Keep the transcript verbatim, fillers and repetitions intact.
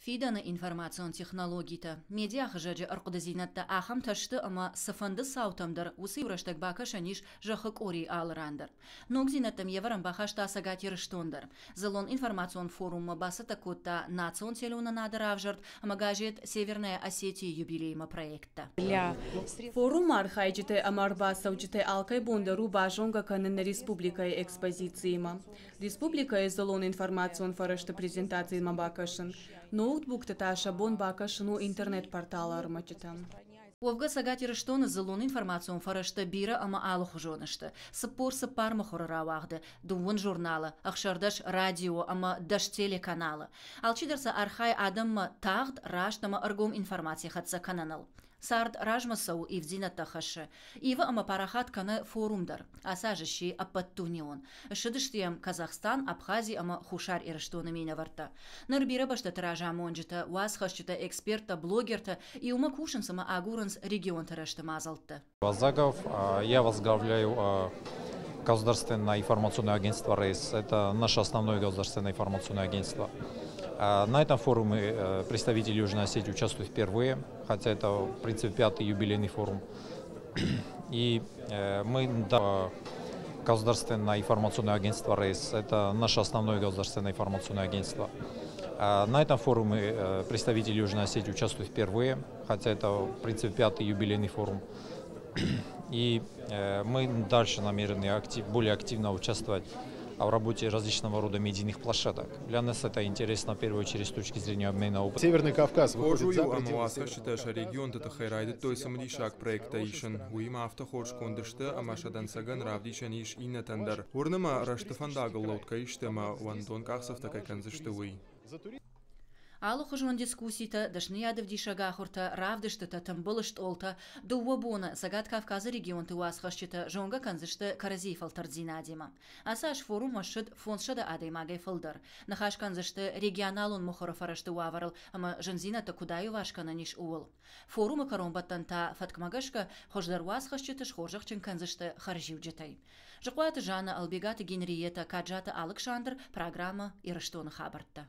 Фидӕны информацион технологитӕ, медиахызӕджы ӕрхъуыдыдзинӕдтӕ ахӕмтӕ сты, ӕмӕ цыфӕнды цаутӕм дӕр уыцы иу рӕстӕг бакӕсӕн ис зӕххы къорийы алы ран дӕр. Ногдзинӕдтӕм йе вӕрӕн бахаста Цӕгат Ирыстон дӕр. Дзыллон информацион форуммӕ бацӕттӕ кодта национ телеуынынады равзӕрд ӕмӕ газет «Северная Осетия» юбилеймӕ проекттӕ. Форумы архайджытӕ ӕмӕ ӕрбацӕуджытӕй алкӕй бон дӕр у базонгӕ кӕнын нӕ республикӕйы экспозициимӕ. Республикӕйы дзыллон информацион фӕрӕзты презентацимӕ бакӕсын. Ноутбукты та сӕ бон бакӕсын у интернет-порталы ӕрмӕджытӕм. Уӕвгӕ Цӕгат Ирыстоны дзыллон информацион фӕрӕзтӕ бирӕ ӕмӕ алыхуызон сты. Цыппор цыппар мыхуыры рауагъды, дыууын журналы, ӕхсӕрдӕс радио ӕмӕ дӕс телеканалы. Алчидӕр сӕ архайы адӕммӕ тагъд, раст ӕмӕ ӕргом информаци хӕццӕ кӕныныл. Цард размӕ цӕуы, ивддзинӕдтӕ хӕссы. Ивы ӕмӕ парахат кӕны форум дӕр. Ацы аз сси ӕппӕтдунеон. Ссыдысты йӕм Казахстан, Абхази ӕмӕ Хуссар Ирыстоны минӕвӕрттӕ. Ныр бирӕ бӕстӕты разамонджытӕ, уацхӕсджытӕ, эксперттӕ, блогертӕ иумӕ кусынц ӕмӕ агурынц регионты рӕзты мадзӕлттӕ. Вазагов, я возглавляю государственное информационное агентство РЭС. Это наше основное государственное информационное агентство. На этом форуме э, представители Южной Осетии участвуют впервые, хотя это, в принципе, пятый юбилейный форум. И э, мы, да, государственное информационное агентство РЭС. Это наше основное государственное информационное агентство. На этом форуме э, представители Южной Осетии участвуют впервые, хотя это, в принципе, пятый юбилейный форум. И мы дальше намерены актив, более активно участвовать в работе различного рода медийных площадок. Для нас это интересно в первую очередь с точки зрения обмена опытом. Северный Кавказ Хорз уый у, ӕмӕ уацхӕсджытӕ сӕ регионты тыххӕй райдыдтой цымыдисаг проекттӕ исын. Уыимӕ афтӕ хорз конд сты, ӕмӕ сӕ дӕнцӕгӕн равдисӕн ис иннӕтӕн дӕр. Уырны мӕ, рӕзты фӕндагыл лӕуд кӕй сты ӕмӕ уӕндон къахдзӕфтӕ кӕй кӕндзысты, уый. Алыхуызон дискусситӕ, дӕсныйадӕвдисӕг ахуыртӕ, равдыстытӕ, тымбыл стъолтӕ. Дыууӕ боны Цӕгат Кавказы регионты уацхӕсджытӕ зонгӕ кӕндзысты кӕрӕдзийы фӕлтӕрддзинадимӕ. Ацы аз форуммӕ ссыд фондзсӕдӕ адӕймагӕй фылдӕр. Ныхас кӕндзысты регионалон мыхуыры фӕрӕзты уавӕрыл ӕмӕ зындзинӕдтӕ куыд аиуварс кӕнӕн ис, ууыл. Форумы кӕронбӕттӕн та фӕткмӕ гӕсгӕ хуыздӕр уацхӕсджыты схорзӕхджын кӕндзысты хӕрзиуджытӕй. Зыхъуаты Жанна, Албегаты Генриетта, Каджаты Алыксандр, программӕ «Ирыстоны хабӕрттӕ».